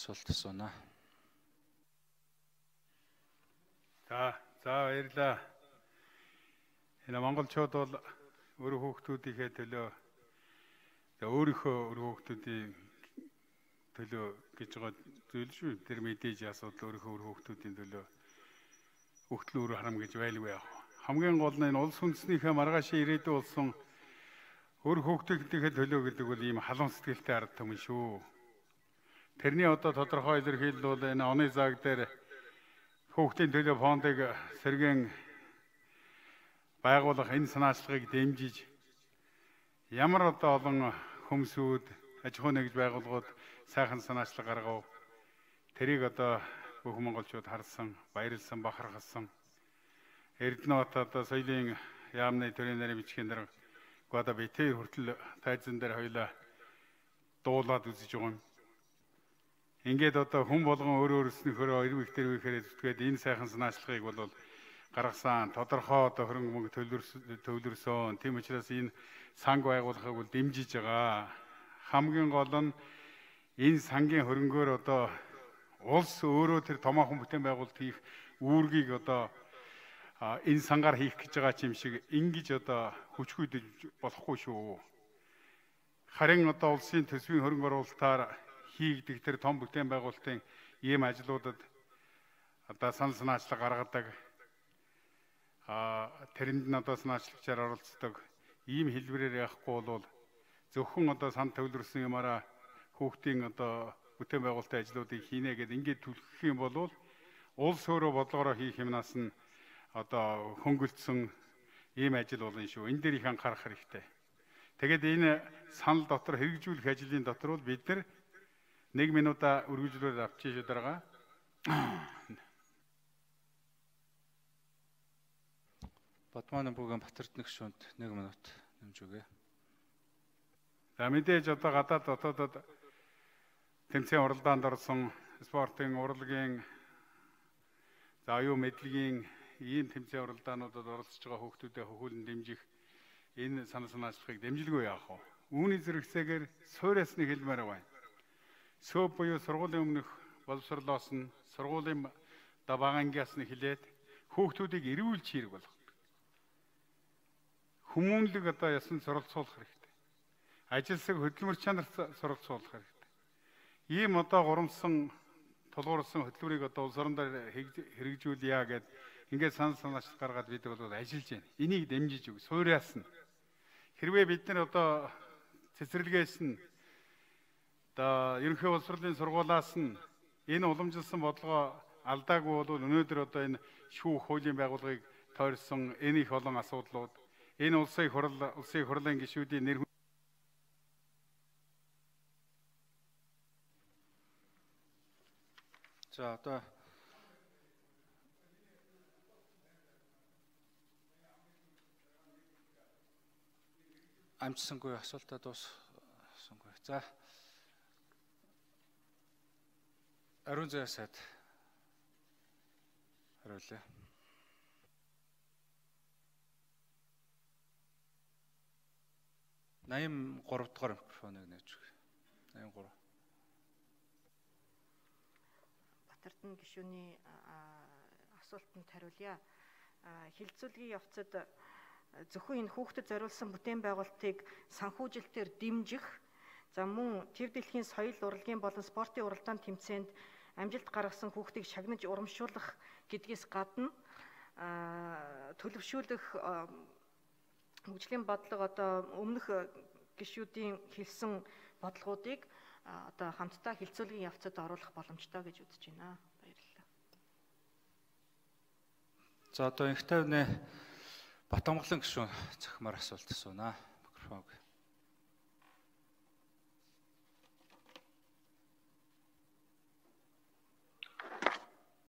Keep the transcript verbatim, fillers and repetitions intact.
асуулт асууна. За, за баярлалаа. Энэ монголчууд бол өөр хүүхдүүдийнхээ төлөө өөрийнхөө өөр хүүхдүүдийн төлөө гэж байгаа зүйл шүү. Тэр мэдээж асуудал өөрийнхөө өөр хүүхдүүдийн төлөө өгтөл өөр харам гэж байлгүй яах. Хамгийн гол нь энэ улс үндэснийхээ маргаашийн ирээдүй болсон өөр хүүхдүүдийнхээ төлөө гэдэг бол ийм халуун сэтгэлтэй ард түмэн шүү. Тэрний одоо тодорхой илэрхийлэл бол энэ оны заг дээр хүүхдийн төлөө фондыг сэргээн байгуулах энэ санаачлагыг дэмжиж ямар одоо олон хүмүүсүүд аж ахуй нэгж байгууллагууд сайхан санаачлаг гаргав. Тэрийг одоо бүх монголчууд харсан, баярлсан, бахархсан. Эрдэнэт одоо соёлын яамны төрийн нарийн бичгийн дараа гада битээ хүртэл тайзан дээр хоёлаа дуулаад үзэж байгаа юм. Ингээд одоо хүн болгон өөр өөрснийхөө эрв их тэр үехээр зүтгээд энэ сайхан санаачлагыг бол гаргасан тодорхой одоо хөрөнгө мөнгө төвлөрсөн. Тийм учраас энэ санг байгуулахыг бол дэмжиж байгаа. Хамгийн гол нь энэ сангийн хөрөнгөөр одоо улс өөрөө тэр томоохон бүтээн байгуулалт хийх үүргийг одоо энэ сангаар хийх гэж байгаа юм шиг ингэж одоо хүчгүйдэж болохгүй шүү. Харин одоо улсын төсвийн хөрөнгө оруулалтаар хийгдэх тэр том бүтээн байгуулалтын ийм ажлуудад одоо санал санаачлаг гаргадаг, а тэрэнд нь одоо санаачлагчаар оролцдог ийм хэлбэрээр явахгүй бол зөвхөн одоо сан төвлөрсөн юмараа хүүхдийн одоо бүтээн байгуулалтын ажлуудыг хийнэ гэдэг ингээд түлхэх юм бол улс өөрөө бодлогороо хийх юмнаас нь одоо хөнгөлдсөн ийм ажил болно шүү. Энэ дээр их анхаарах хэрэгтэй. Тэгээд энэ санал дотор хэрэгжүүлэх ажлын дотор бол бид нар нэг минутаа үргэлжлүүлээд авчиж дараагаа. Батманы бүген Батэрдэн гишүүнд нэг минут нэмж өгье. За мэдээж одоо гадаад дотоодод тэмцээн уралдаанд орсон спортын урлагийн за аюу мэдлэгийн ийм тэмцээн уралдаануудад оролцож байгаа хүүхдүүдэд хөхүүлэн дэмжих энэ санал санаачлагыг дэмжилгүй яах вэ? Үүний зэрэгцээгээр суурьас нэг хэлмээр байна. Сөөв буюу сургуулийн өмнөх боловсролоос нь сургуулийн даваагангиас нь хилээд хүүхдүүдийг эрүүл чирэг болгох. Хүмүүнлэг одоо ясан суралцуулах хэрэгтэй. Ажилсаг хөдөлмөр чанарт суралцуулах хэрэгтэй. Ийм одоо гурамсан тулгуурсан хөтөлбөрийг одоо улс орон дээр хэрэгжүүлъя гэд ингээд санал санаачлал гаргаад бид бол ажиллаж байна. Энийг дэмжиж өг суурьас нь. Хэрвээ бид нар одоо цэцэрлэгээс нь одоо ерөнхий боловсролын сургуулиас нь энэ уламжилсан бодлогоо алдаагүй бол өнөөдөр одоо энэ шүүх хуулийн байгууллагыг тойрсон энэ их олон асуудлууд энэ улсын хурал улсын хурлын гишүүдийн нэр За одоо амжсангүй асуултаа дууссангүй. За Ариун зай сайд хариулъя. восемьдесят три дахь микрофоныг нээж өгье. восемьдесят три. Батэрдэн гишүүний асуултанд хариулъя. Хилцүүлгийн явцад зөвхөн энэ хүүхдэд зориулсан бүтээн байгуулалтыг санхүүжилтээр дэмжих, за мөн тэр дэлхийн соёл урлагийн болон спортын уралдаан тэмцээнд амжилт гаргасан хүүхдийг шагнаж урамшуулах гэдгээс гадна төлөвшүүлэх хөгжлийн бодлого одоо өмнөх гишүүдийн хэлсэн бодлогуудыг одоо хамтдаа хилцүүлгийн явцад оруулах боломжтой гэж үзэж байна. Баярлалаа. За одоо инх тайвны Батамгалан гишүүн цахимаар асуулт асууна. Микрофон.